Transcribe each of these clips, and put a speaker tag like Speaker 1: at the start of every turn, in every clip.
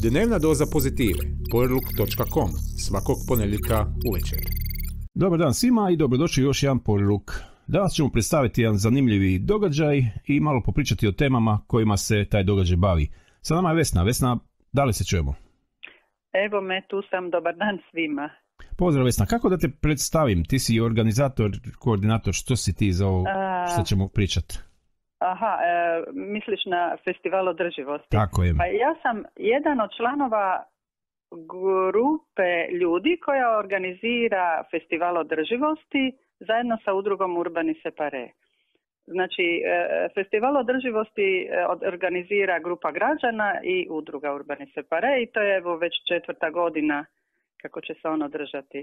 Speaker 1: Dnevna doza pozitive. Powerlook.com. Svakog ponedjeljka uvečer.
Speaker 2: Dobar dan svima i dobrodošli u još jedan Powerlook. Danas ćemo predstaviti jedan zanimljivi događaj i malo popričati o temama kojima se taj događaj bavi. Sa nama je Vesna. Vesna, da li se čujemo?
Speaker 3: Evo me, tu sam. Dobar dan svima.
Speaker 2: Pozdrav Vesna, kako da te predstavim? Ti si organizator, koordinator, što si ti za ovo što ćemo pričati?
Speaker 3: Aha, misliš na festival održivosti?
Speaker 2: Tako je.
Speaker 3: Pa ja sam jedan od članova grupe ljudi koja organizira festival održivosti zajedno sa udrugom Urbani Separe. Znači, festival održivosti organizira grupa građana i udruga Urbani Separe i to je evo već 4. godina kako će se on održati.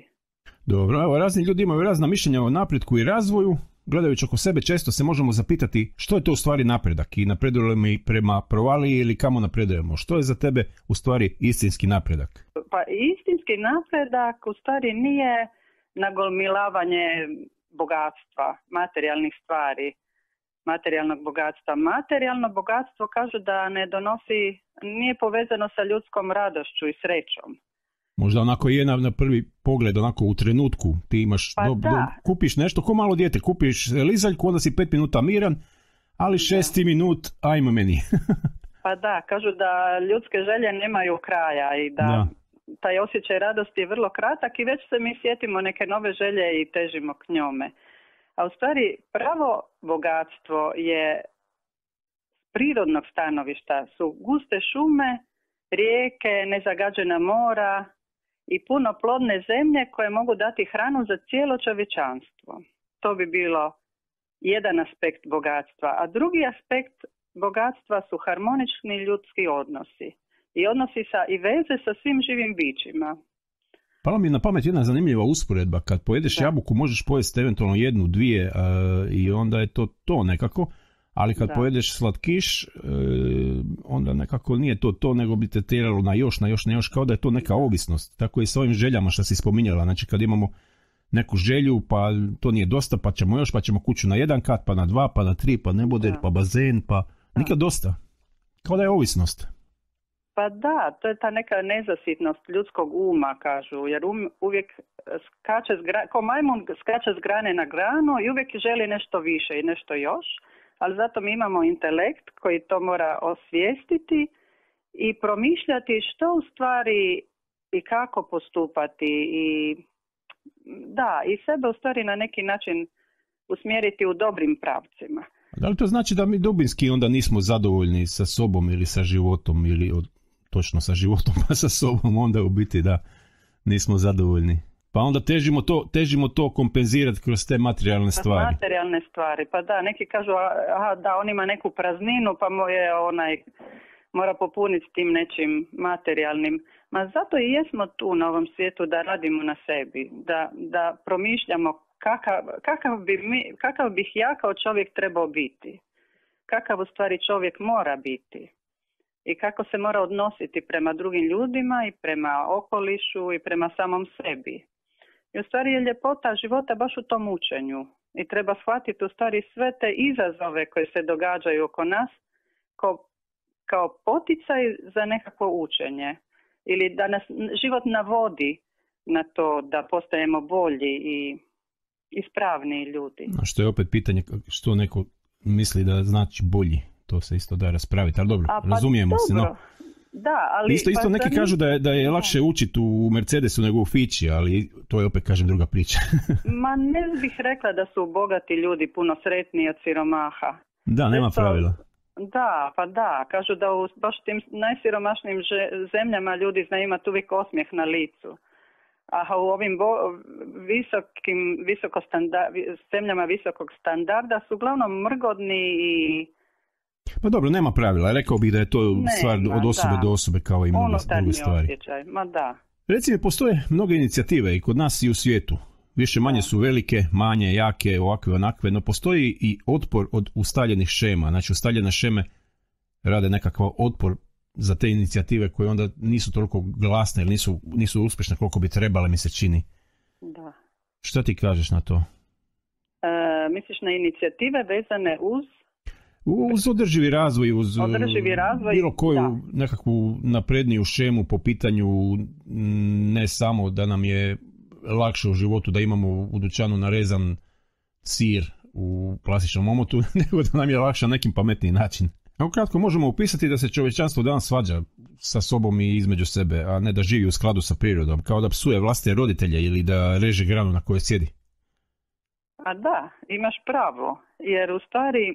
Speaker 2: Dobro, evo razni ljudi imaju razna mišljenja o napretku i razvoju. Gledajući oko sebe često se možemo zapitati što je to u stvari napredak i napredujemo mi prema provaliji ili kamo napredujemo. Što je za tebe u stvari istinski napredak?
Speaker 3: Pa istinski napredak u stvari nije nagomilavanje bogatstva, materijalnih stvari, materijalnog bogatstva. Materijalno bogatstvo kažu da ne donosi, nije povezano sa ljudskom radošću i srećom.
Speaker 2: Možda onako je na prvi pogled, onako u trenutku ti imaš, kupiš nešto, ko malo dijete, kupiš lizaljku, onda si 5 minuta miran, ali 6. minut, ajmo meni.
Speaker 3: Pa da, kažu da ljudske želje nemaju kraja i da taj osjećaj radosti je vrlo kratak i već se mi sjetimo neke nove želje i težimo k njome. A u stvari pravo bogatstvo je prirodnog stanovišta, su guste šume, rijeke, nezagađena mora i puno plodne zemlje koje mogu dati hranu za cijelo čovječanstvo. To bi bilo jedan aspekt bogatstva. A drugi aspekt bogatstva su harmonični ljudski odnosi. I odnosi i veze sa svim živim bićima.
Speaker 2: Pala mi je na pamet jedna zanimljiva usporedba. Kad pojedeš jabuku možeš pojesti eventualno 1, 2 i onda je to nekako. Ali kad pojedeš slatkiš, onda nekako nije to, nego bi te tjeralo na još, kao da je to neka ovisnost. Tako i s ovim željama što si spominjala. Znači kad imamo neku želju, pa to nije dosta, pa ćemo kuću na 1 kat, pa na 2, pa na 3, pa neboder, pa bazen, pa nikad dosta. Kao da je ovisnost.
Speaker 3: Pa da, to je ta neka nezasitnost ljudskog uma, kažu, jer uvijek skače, ko majmun skače s grane na granu i uvijek želi nešto više i nešto još. Ali zato mi imamo intelekt koji to mora osvijestiti i promišljati što u stvari i kako postupati i sebe u stvari na neki način usmjeriti u dobrim pravcima.
Speaker 2: Da li to znači da mi dubinski onda nismo zadovoljni sa sobom ili sa životom ili točno sa životom pa sa sobom, onda u biti da nismo zadovoljni? Pa onda težimo to kompenzirati kroz te materijalne stvari.
Speaker 3: Materijalne stvari, pa da, neki kažu da on ima neku prazninu pa mora popuniti tim nečim materijalnim. Ma zato i jesmo tu na ovom svijetu da radimo na sebi, da promišljamo kakav bih ja kao čovjek trebao biti, kakav u stvari čovjek mora biti i kako se mora odnositi prema drugim ljudima i prema okolišu i prema samom sebi. I u stvari je ljepota života baš u tom učenju i treba shvatiti u stvari sve te izazove koje se događaju oko nas kao poticaj za nekakvo učenje ili da nas život navodi na to da postajemo bolji i ispravniji ljudi.
Speaker 2: A što je opet pitanje što neko misli da znači bolji, to se isto da raspraviti, ali dobro, razumijemo se. No.
Speaker 3: Da, ali
Speaker 2: isto neki kažu da je lakše učiti u Mercedesu nego u Fići, ali to je opet, kažem, druga priča.
Speaker 3: Ma ne bih rekla da su bogati ljudi puno sretniji od siromaha.
Speaker 2: Da, nema pravila.
Speaker 3: Da, pa da, kažu da u baš tim najsiromašnijim zemljama ljudi znaju imati uvijek osmijeh na licu. A u ovim zemljama visokog standarda su uglavnom mrgodni i...
Speaker 2: Pa dobro, nema pravila. Rekao bih da je to stvar od osobe do osobe kao i mnoge stvari.
Speaker 3: Osjećaj. Ma da.
Speaker 2: Recimo, postoje mnoge inicijative i kod nas i u svijetu. Više manje su velike, manje, jake, ovakve, onakve, no postoji i otpor od ustaljenih šema. Znači, ustaljene šeme rade nekakav otpor za te inicijative koje onda nisu toliko glasne ili nisu uspješne koliko bi trebale, mi se čini.
Speaker 3: Da.
Speaker 2: Šta ti kažeš na to?
Speaker 3: Misliš na inicijative vezane uz?
Speaker 2: Uz održivi razvoj, uz bilo koju nekakvu napredniju šemu po pitanju ne samo da nam je lakše u životu da imamo u dućanu narezan sir u plastičnom omotu, nego da nam je lakše na nekim pametniji način. Ukratko možemo upisati da se čovječanstvo danas svađa sa sobom i između sebe, a ne da živi u skladu sa prirodom, kao da psuje vlastite roditelje ili da reže granu na kojoj sjedi.
Speaker 3: A da, imaš pravo, jer u stvari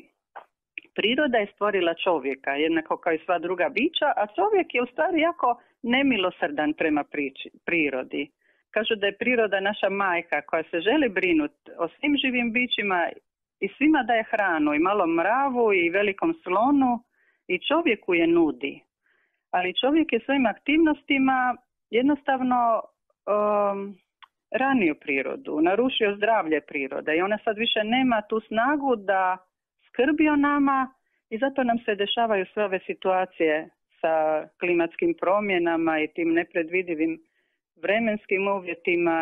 Speaker 3: priroda je stvorila čovjeka, jednako kao i sva druga bića, a čovjek je u stvari jako nemilosrdan prema prirodi. Kažu da je priroda naša majka koja se želi brinuti o svim živim bićima i svima daje hranu, i malom mravu i velikom slonu, i čovjeku je nudi. Ali čovjek je svojim aktivnostima jednostavno ranio prirodu, narušio zdravlje prirode i ona sad više nema tu snagu da skrbi o nama i zato nam se dešavaju sve ove situacije sa klimatskim promjenama i tim nepredvidivim vremenskim uvjetima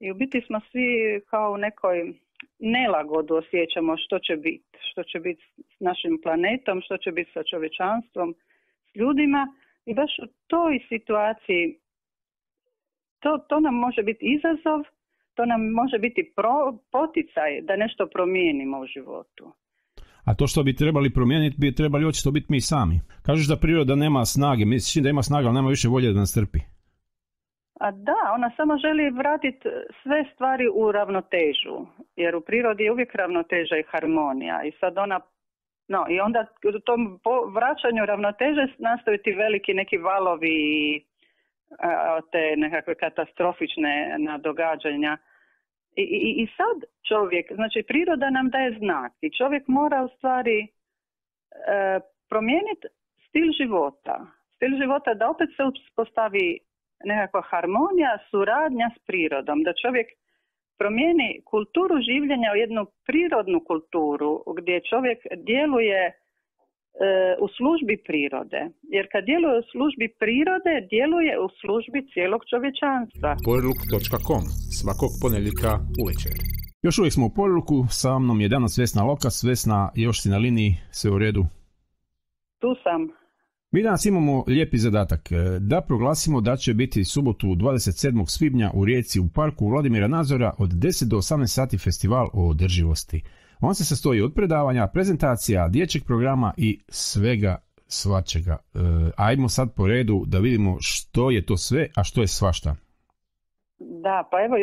Speaker 3: i u biti smo svi kao u nekoj nelagodu osjećamo što će biti s našim planetom, što će biti sa čovječanstvom, s ljudima i baš u toj situaciji to nam može biti izazov, to nam može biti poticaj da nešto promijenimo u životu.
Speaker 2: A to što bi trebali promijeniti, bi trebali očito biti mi sami. Kažeš da priroda nema snage, misliš da ima snage, ali nema više volje da nas trpi.
Speaker 3: A da, ona samo želi vratiti sve stvari u ravnotežu, jer u prirodi je uvijek ravnoteža i harmonija. I sad i onda u tom vraćanju ravnoteže nastaju ti veliki neki valovi i te nekakve katastrofične događanja. I sad čovjek, znači priroda nam daje znak i čovjek mora u stvari promijeniti stil života da opet se uspostavi nekakva harmonija, suradnja s prirodom, da čovjek promijeni kulturu življenja u jednu prirodnu kulturu gdje čovjek djeluje u službi prirode. Jer kad djeluje u službi prirode, djeluje u službi cijelog čovječanstva.
Speaker 1: Porluk.com, svakog ponedjeljka uvečer.
Speaker 2: Još uvijek smo u Porluku, sa mnom je danas Vesna Lokas. Vesna, još si na liniji, sve u redu?
Speaker 3: Tu sam.
Speaker 2: Mi danas imamo lijepi zadatak da proglasimo da će biti subotu 27. svibnja u Rijeci u parku Vladimira Nazora od 10 do 18 sati festival o održivosti. On se sastoji od predavanja, prezentacija, dječjeg programa i svega svačega. Ajmo sad po redu da vidimo što je to sve, a što je svašta.
Speaker 3: Da, pa evo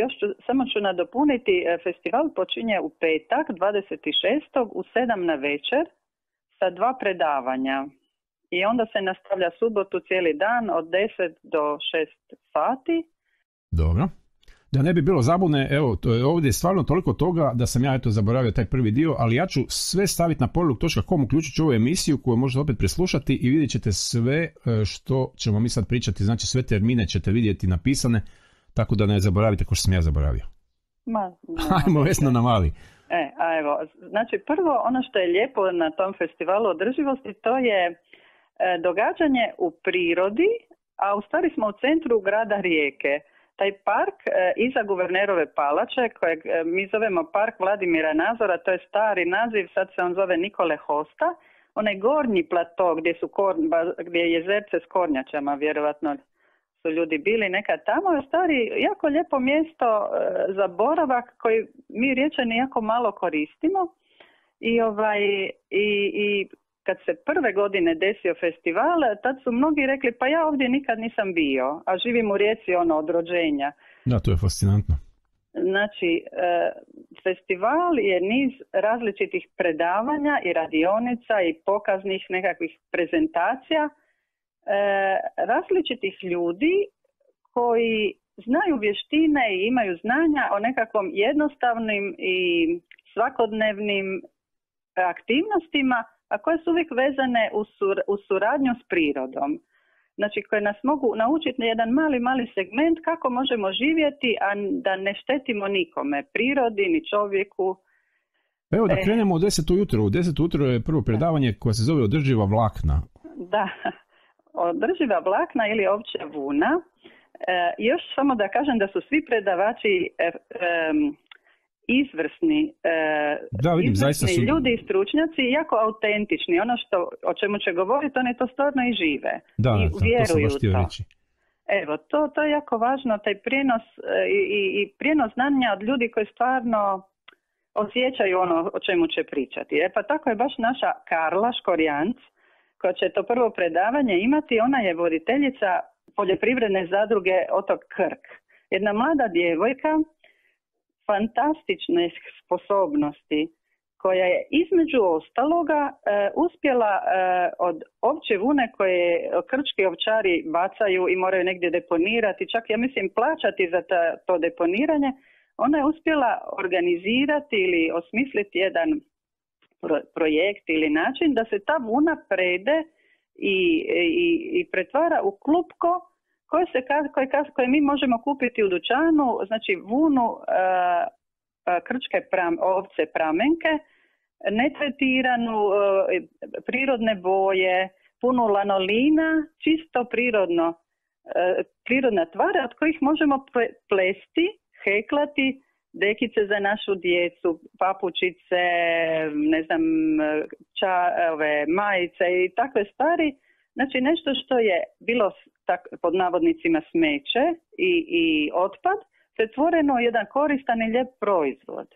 Speaker 3: samo ću nadopuniti. Festival počinje u petak 26. u 7 na večer sa 2 predavanja. I onda se nastavlja subotu cijeli dan od 10 do 6 sati.
Speaker 2: Dobro. Da ne bi bilo zabune, evo, ovdje je stvarno toliko toga da sam ja zaboravio taj prvi dio, ali ja ću sve staviti na porluk.com, uključit ću ovu emisiju koju možete opet preslušati i vidjet ćete sve što ćemo mi sad pričati, znači sve termine ćete vidjeti napisane, tako da ne zaboravite ko što sam ja zaboravio. Ajmo Vesna na mali.
Speaker 3: Evo, znači prvo ono što je lijepo na tom festivalu održivosti, to je događanje u prirodi, a u stvari smo u centru grada Rijeke. Taj park iza Guvernerove palače, kojeg mi zovemo park Vladimira Nazora, to je stari naziv, sad se on zove Nikole Hosta, onaj gornji plato gdje je jezerce s kornjačama, vjerovatno su ljudi bili nekad tamo, je stari jako lijepo mjesto za boravak koji mi Riječani jako malo koristimo i kad se prve godine desio festival, tad su mnogi rekli pa ja ovdje nikad nisam bio, a živim u Rijeci od rođenja.
Speaker 2: Da, to je fascinantno.
Speaker 3: Znači, festival je niz različitih predavanja i radionica i pokaznih nekakvih prezentacija različitih ljudi koji znaju vještine i imaju znanja o nekakvom jednostavnim i svakodnevnim aktivnostima, a koje su uvijek vezane u suradnju s prirodom. Znači, koje nas mogu naučiti na jedan mali segment kako možemo živjeti, a da ne štetimo nikome, prirodi ni čovjeku.
Speaker 2: Evo da krenemo u 10 ujutro. U 10 ujutro je prvo predavanje koje se zove Održiva vlakna.
Speaker 3: Da, održiva vlakna ili ovčja vuna. Još samo da kažem da su svi predavači izvrsni,
Speaker 2: da, vidim,
Speaker 3: izvrsni ljudi i stručnjaci, jako autentični. Ono o čemu će govoriti, oni to stvarno i žive. I vjeruju
Speaker 2: to. Sam baš reći.
Speaker 3: Evo, to je jako važno, taj prijenos i prijenos znanja od ljudi koji stvarno osjećaju ono o čemu će pričati. Pa tako je baš naša Karla Škorjanc, koja će to prvo predavanje imati. Ona je voditeljica poljoprivredne zadruge Otok Krk. Jedna mlada djevojka, fantastične sposobnosti, koja je između ostaloga uspjela od ovčje vune koje krčki ovčari bacaju i moraju negdje deponirati, čak ja mislim plaćati za to deponiranje, ona je uspjela organizirati ili osmisliti jedan projekt ili način da se ta vuna prede i pretvara u klupko koje mi možemo kupiti u dućanu, znači vunu krčke ovce pramenke, netretiranu, prirodne boje, punu lanolina, čisto prirodna tvar od kojih možemo plesti, heklati dekice za našu djecu, papučice, ne znam, majice i takve stvari. Znači nešto što je bilo pod navodnicima smeće i otpad, pretvoreno u jedan koristan i lijep proizvod.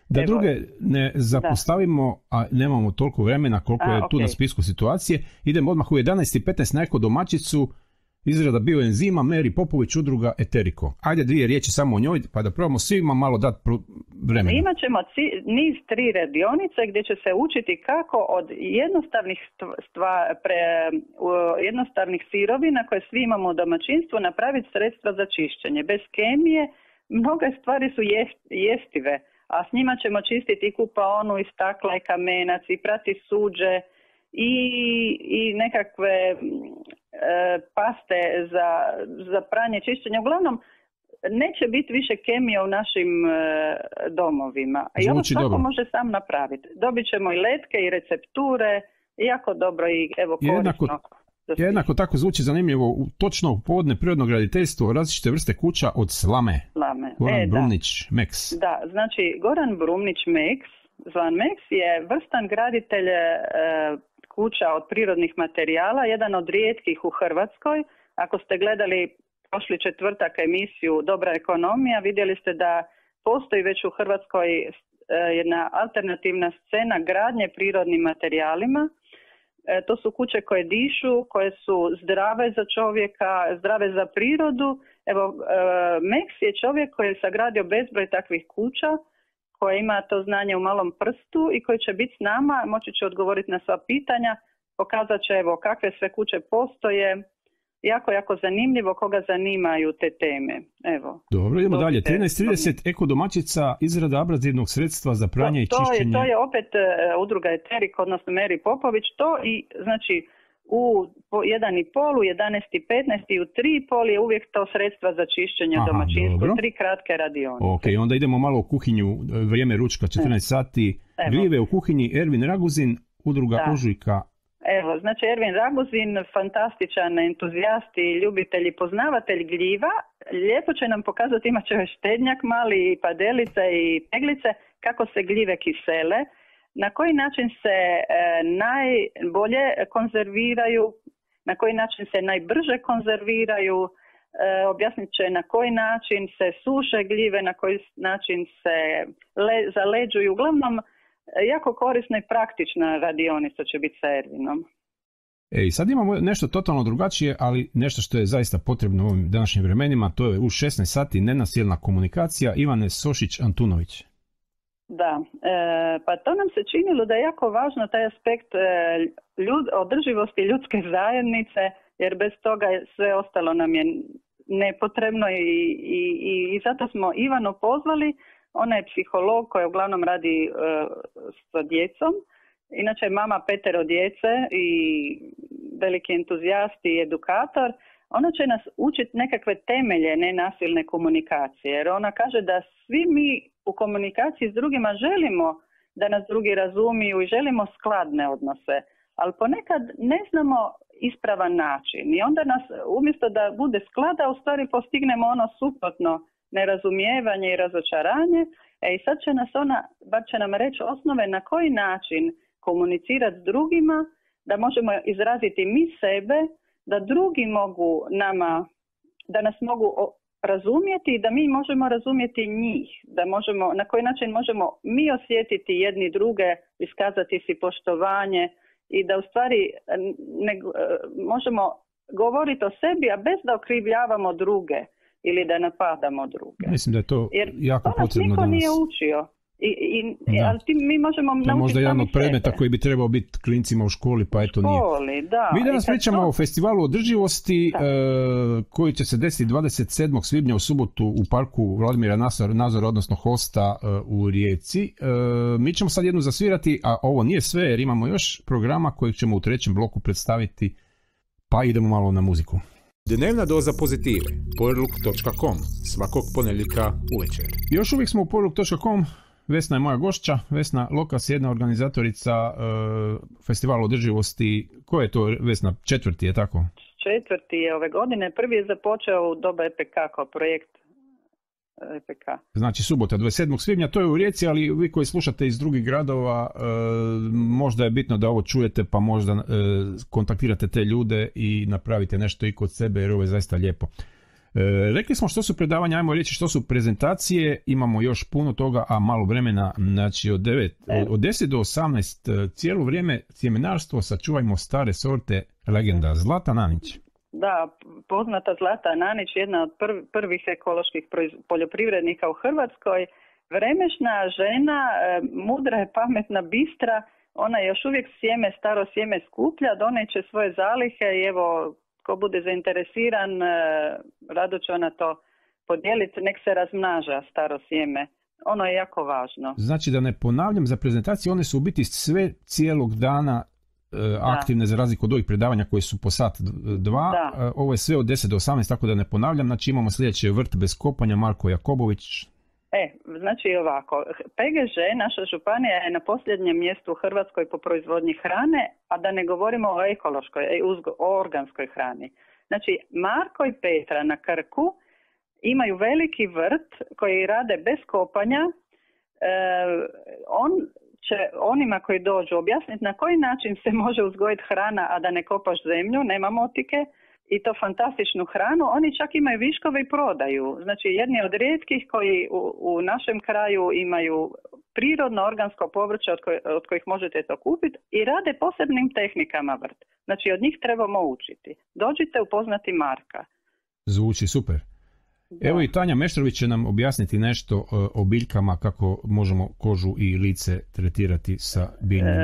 Speaker 2: Da druge ne zapostavimo, a nemamo toliko vremena koliko je tu na spisku situacije, idemo odmah u 11:15 na Eko domaćicu, izrada bioenzima, Meri Popović, udruga Eteriko. Ajde 2 riječi samo o njoj, pa da probamo svima malo dati vremena.
Speaker 3: Imat ćemo niz 3 radionice gdje će se učiti kako od jednostavnih sirovina koje svi imamo u domaćinstvu napraviti sredstva za čišćenje. Bez kemije mnoge stvari su jestive, a s njima ćemo čistiti i kupaonu, i stakla, i kamenac, i prati suđe, i nekakve paste za pranje, čišćenje. Uglavnom, neće biti više kemije u našim domovima. I ovo svako može sam napraviti. Dobit ćemo i letke i recepture, jako dobro i evo korisno.
Speaker 2: Jednako tako zvuči zanimljivo, točno u podne prirodno graditeljstvo, različite vrste kuća od slame. Goran Brumnić, Meks.
Speaker 3: Da, znači Goran Brumnić, Meks, zvan Meks, je vrstan graditelj kuća od prirodnih materijala, jedan od rijetkih u Hrvatskoj. Ako ste gledali prošli četvrtak emisiju Dobra ekonomija, vidjeli ste da postoji već u Hrvatskoj jedna alternativna scena gradnje prirodnim materijalima. To su kuće koje dišu, koje su zdrave za čovjeka, zdrave za prirodu. Evo, Meks je čovjek koji je sagradio bezbroj takvih kuća, koji ima to znanje u malom prstu i koji će biti s nama, moći će odgovoriti na sva pitanja, pokazat će evo kakve sve kuće postoje. Jako zanimljivo, koga zanimaju te teme. Evo.
Speaker 2: Dobro, idemo dalje. 13:30 Eko domaćica, izrada abrazivnog sredstva za pranje i čišćenje.
Speaker 3: To je opet udruga Eterik, odnosno Meri Popović. To i znači u 1:30, u 11:15 i u 3:30 je uvijek to sredstva za čišćenje domaćinstva. 3 kratke radionice.
Speaker 2: Ok, onda idemo malo u kuhinju, vrijeme ručka, 14 sati. Gljive u kuhinji, Ervin Raguzin, udruga Ožujka.
Speaker 3: Evo, znači Ervin Raguzin, fantastičan entuzijast i ljubitelj i poznavatelj gljiva. Lijepo će nam pokazati, imat će štednjak mali, i padelice i teglice, kako se gljive kisele, na koji način se najbolje konzerviraju, na koji način se najbrže konzerviraju, objasnit će na koji način se suše gljive, na koji način se zaleđuju. Uglavnom, jako korisna i praktična radionica će biti sa Ervinom.
Speaker 2: Sad imamo nešto totalno drugačije, ali nešto što je zaista potrebno u ovim današnjim vremenima, to je u 16 sati nenasilna komunikacija. Ivane Sošić-Antunović.
Speaker 3: Da, pa to nam se činilo da je jako važno taj aspekt održivosti ljudske zajednice, jer bez toga sve ostalo nam je nepotrebno i zato smo Ivanu pozvali. Ona je psiholog koja uglavnom radi sa djecom. Inače je mama 5 djece i veliki entuzijast i edukator. Ona će nas učiti nekakve temelje nenasilne komunikacije. Jer ona kaže da svi mi u komunikaciji s drugima želimo da nas drugi razumiju i želimo skladne odnose. Ali ponekad ne znamo ispravan način. I onda nas, umjesto da bude sklada, u stvari postignemo ono suprotno, nerazumijevanje i razočaranje. I sad će nas bar će nam reći osnove na koji način komunicirati s drugima, da možemo izraziti mi sebe, da drugi mogu da nas mogu razumjeti i da mi možemo razumjeti njih, na koji način možemo mi osjetiti jedni druge, iskazati si poštovanje i da u stvari možemo govoriti o sebi, a bez da okrivljavamo druge ili da napadamo druge.
Speaker 2: Mislim da je to jako potrebno danas. Jer to nas
Speaker 3: niko nije učio. Ali mi možemo naučiti.
Speaker 2: To je možda jedan od predmeta koji bi trebao biti klincima u školi, pa eto nije.
Speaker 3: Da.
Speaker 2: Mi danas pričamo o festivalu održivosti koji će se desiti 27. svibnja u subotu u parku Vladimira Nazora, odnosno Hosta u Rijeci. Mi ćemo sad jednu zasvirati, a ovo nije sve jer imamo još programa kojeg ćemo u trećem bloku predstaviti, pa idemo malo na muziku.
Speaker 1: Dnevna doza pozitive. Powerlook.com. Svakog ponedjeljka uvečer.
Speaker 2: Još uvijek smo u Powerlook.com. Vesna je moja gošća. Vesna Lokas je jedna organizatorica festivala održivosti. Ko je to, Vesna? 4. je tako?
Speaker 3: 4. je ove godine. Prvi je započeo u doba EPK kao projekt EPK.
Speaker 2: Znači subota 27. svibnja, to je u Rijeci, ali vi koji slušate iz drugih gradova, možda je bitno da ovo čujete, pa možda kontaktirate te ljude i napravite nešto i kod sebe, jer ovo je zaista lijepo. Rekli smo što su predavanja, ajmo reći što su prezentacije, imamo još puno toga, a malo vremena, znači od 10 do 18 cijelo vrijeme sjemenarstvo, sačuvajmo stare sorte, legenda Zlata Nanić.
Speaker 3: Da, poznata Zlata Nanić, jedna od prvih ekoloških poljoprivrednika u Hrvatskoj, vremešna žena, mudra je, pametna, bistra, ona još uvijek staro sjeme skuplja, doneće svoje zalihe i evo, ko bude zainteresiran, rado će ona to podijeliti, nek se razmnaža staro sjeme. Ono je jako važno.
Speaker 2: Znači da ne ponavljam za prezentaciju, one su u biti sve cijelog dana aktivne za razliku od ovih predavanja koje su po sat 2. Ovo je sve od 10 do 18, tako da ne ponavljam. Znači imamo sljedeće Vrt bez kopanja, Marko Jakobović.
Speaker 3: Znači ovako, PGŽ, naša županija je na posljednjem mjestu u Hrvatskoj po proizvodnji hrane, a da ne govorimo o ekološkoj, o organskoj hrani. Znači Marko i Petra na Krku imaju veliki vrt koji rade bez kopanja. On će onima koji dođu objasniti na koji način se može uzgojiti hrana, a da ne kopaš zemlju, nema motike, i to fantastičnu hranu. Oni čak imaju viškove i prodaju. Znači jedni od rijetkih koji u našem kraju imaju prirodno organsko povrće od kojih možete to kupiti i rade posebnim tehnikama vrt. Znači od njih trebamo učiti. Dođite upoznati Marka.
Speaker 2: Zvuči super. Da. Evo i Tanja Meštrović će nam objasniti nešto o biljkama, kako možemo kožu i lice tretirati sa biljnim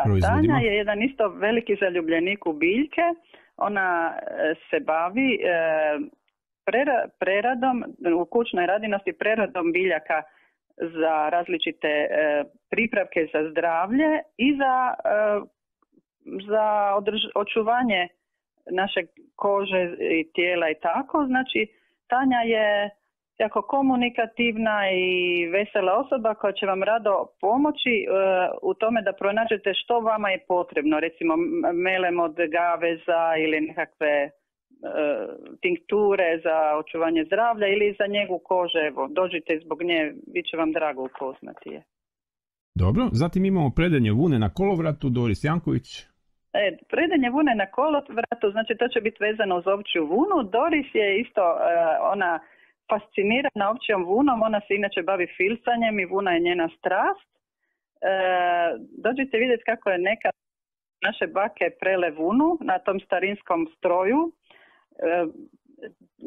Speaker 2: proizvodima.
Speaker 3: Tanja je jedan isto veliki zaljubljenik u biljke. Ona se bavi preradom, u kućnoj radinosti preradom biljaka za različite pripravke za zdravlje i za očuvanje naše kože i tijela i tako. Znači, Tanja je jako komunikativna i vesela osoba koja će vam rado pomoći u tome da pronađete što vama je potrebno. Recimo melem od gaveza ili nekakve tinkture za očuvanje zdravlja ili za njegu kože. Evo, dođite zbog nje, bit će vam drago upoznati je.
Speaker 2: Dobro, zatim imamo predanje vune na kolovratu, Doris Janković.
Speaker 3: Predanje vune na kolovratu, znači to će biti vezano uz ovčju vunu. Doris je isto, ona fascinirana ovčjom vunom, ona se inače bavi filcanjem i vuna je njena strast. Dođite vidjeti kako je neka naše bake prele vunu na tom starinskom stroju.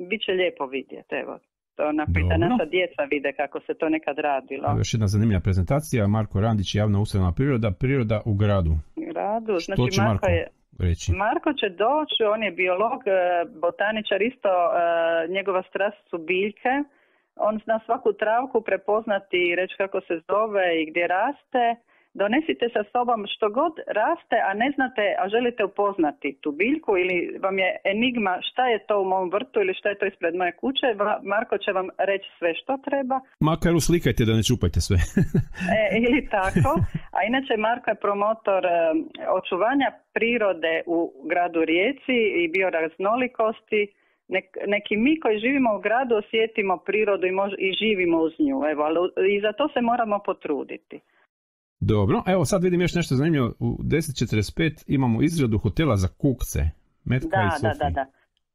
Speaker 3: Biće lijepo vidjeti, evo. To da naša djeca vide kako se to nekad radilo.
Speaker 2: Još jedna zanimljiva prezentacija, Marko Randić, javna ustanova priroda u gradu.
Speaker 3: Znači
Speaker 2: što će Marko reći?
Speaker 3: Marko će doći, on je biolog, botaničar isto, njegova strast su biljke. On zna svaku travku prepoznati i reći kako se zove i gdje raste. Donesite sa sobom što god raste, a ne znate, a želite upoznati tu biljku ili vam je enigma šta je to u mom vrtu ili šta je to ispred moje kuće, Marko će vam reći sve što treba.
Speaker 2: Makar uslikajte da ne čupajte sve.
Speaker 3: Ili tako. A inače Marko je promotor očuvanja prirode u gradu Rijeci i bioraznolikosti. neki mi koji živimo u gradu osjetimo prirodu i živimo uz nju. Evo, ali i za to se moramo potruditi.
Speaker 2: Dobro, evo sad vidim još nešto zanimljivo. U 10:45 imamo izradu hotela za kukce. Metka i Sofija.
Speaker 3: Da.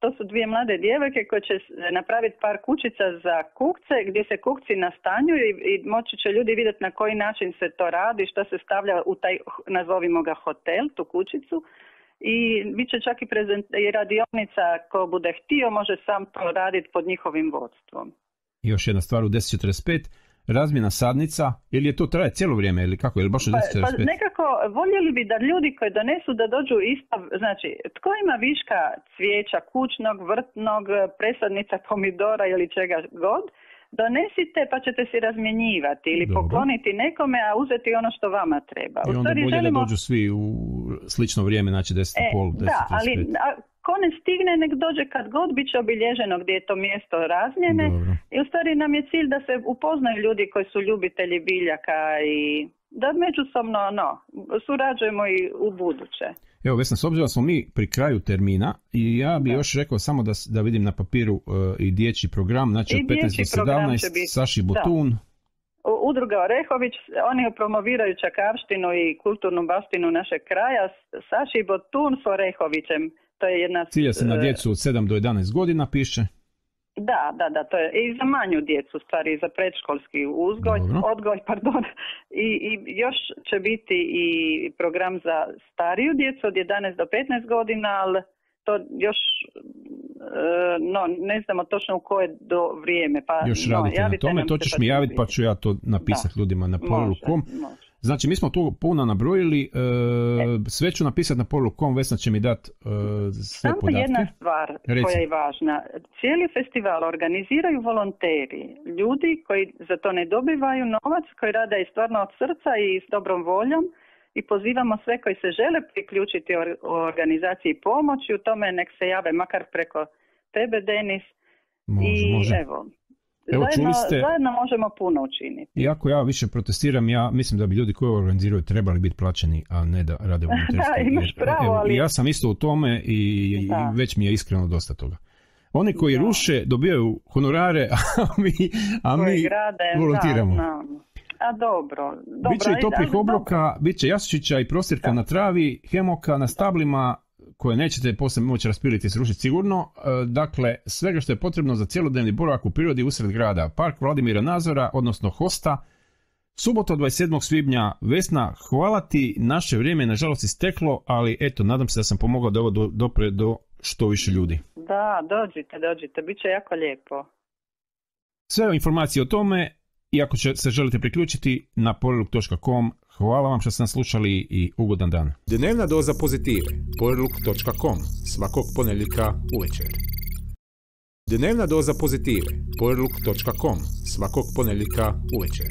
Speaker 3: To su dvije mlade djevojke koje će napraviti par kućica za kukce gdje se kukci nastanjuju i moći će ljudi vidjeti na koji način se to radi, što se stavlja u taj, nazovimo ga hotel, tu kućicu. I bit će čak i radionica ko bude htio može sam to raditi pod njihovim vodstvom.
Speaker 2: I još jedna stvar u 10:45. Razmjena sadnica, ili je to traje cijelo vrijeme ili kako, ili baš u 10:45?
Speaker 3: Pa nekako voljeli bi da ljudi koji donesu da dođu isto, znači tko ima viška cvijeća kućnog, vrtnog, presadnica pomidora ili čega god, donesite pa ćete si razmjenjivati ili pokloniti nekome, a uzeti ono što vama treba.
Speaker 2: I onda bolje da dođu svi u slično vrijeme, znači 10:30, 10:35.
Speaker 3: Da, ali ko ne stigne, nek dođe kad god, bit će obilježeno gdje je to mjesto razmjene.
Speaker 2: Dobro.
Speaker 3: I u stvari nam je cilj da se upoznaju ljudi koji su ljubitelji biljaka i da međusobno surađujemo i u buduće.
Speaker 2: Evo Vesna, s obzirom da smo mi pri kraju termina i ja bi još rekao samo da vidim na papiru i dječji program, znači od 15 do 17, Saši Botun.
Speaker 3: Udruga Orehović, oni promoviraju čakavštinu i kulturnu baštinu našeg kraja. Saši Botun s Orehovićem. To je jedna...
Speaker 2: Cilja se na djecu od 7 do 11 godina, piše.
Speaker 3: Da, to je i za manju djecu, stvari, za predškolski odgoj, I još će biti i program za stariju djecu od 11 do 15 godina, ali to još ne znamo točno u koje do vrijeme. Pa,
Speaker 2: još radite na tome, to ćeš mi javiti pa ću ja to napisati ljudima na porukom. Znači, mi smo tu puno nabrojili, sve ću napisati na porukom, Vesna će mi dati sve
Speaker 3: samo
Speaker 2: podatke.
Speaker 3: Jedna stvar koja je važna. Cijeli festival organiziraju volonteri, ljudi koji za to ne dobivaju novac, koji rade i stvarno od srca i s dobrom voljom i pozivamo sve koji se žele priključiti u organizaciji pomoći, u tome nek se jave makar preko tebe, Denis.
Speaker 2: Može.
Speaker 3: Evo, zajedno možemo puno učiniti.
Speaker 2: Iako ja više protestiram, ja mislim da bi ljudi koji organiziraju trebali biti plaćeni, a ne da rade volonterski.
Speaker 3: Da, imaš pravo, ali...
Speaker 2: Ja sam isto u tome i već mi je iskreno dosta toga. Oni koji ruše dobijaju honorare, a mi volontiramo.
Speaker 3: A dobro.
Speaker 2: Biće i toplih obroka, bit će jastučića i prostirka na travi, hemoka na stablima, koje nećete poslije moći raspiliti i srušiti sigurno. Dakle, svega što je potrebno za cjelodnevni boravak u prirodi usred grada. Park Vladimira Nazora, odnosno Hosta. Subota 27. svibnja. Vesna, hvala ti, naše vrijeme je nažalost isteklo, ali eto, nadam se da sam pomogao da ovo dopre do što više ljudi.
Speaker 3: Da, dođite, bit će jako lijepo.
Speaker 2: Sve informacije o tome, i ako se želite priključiti, na poreluk.com. Hvala vam što ste nas slušali i ugodan dan.
Speaker 1: Dnevna doza pozitive. poreluk.com. Svakog ponedjeljka uvečer. Dnevna doza pozitive. poreluk.com. Svakog ponedjeljka uvečer.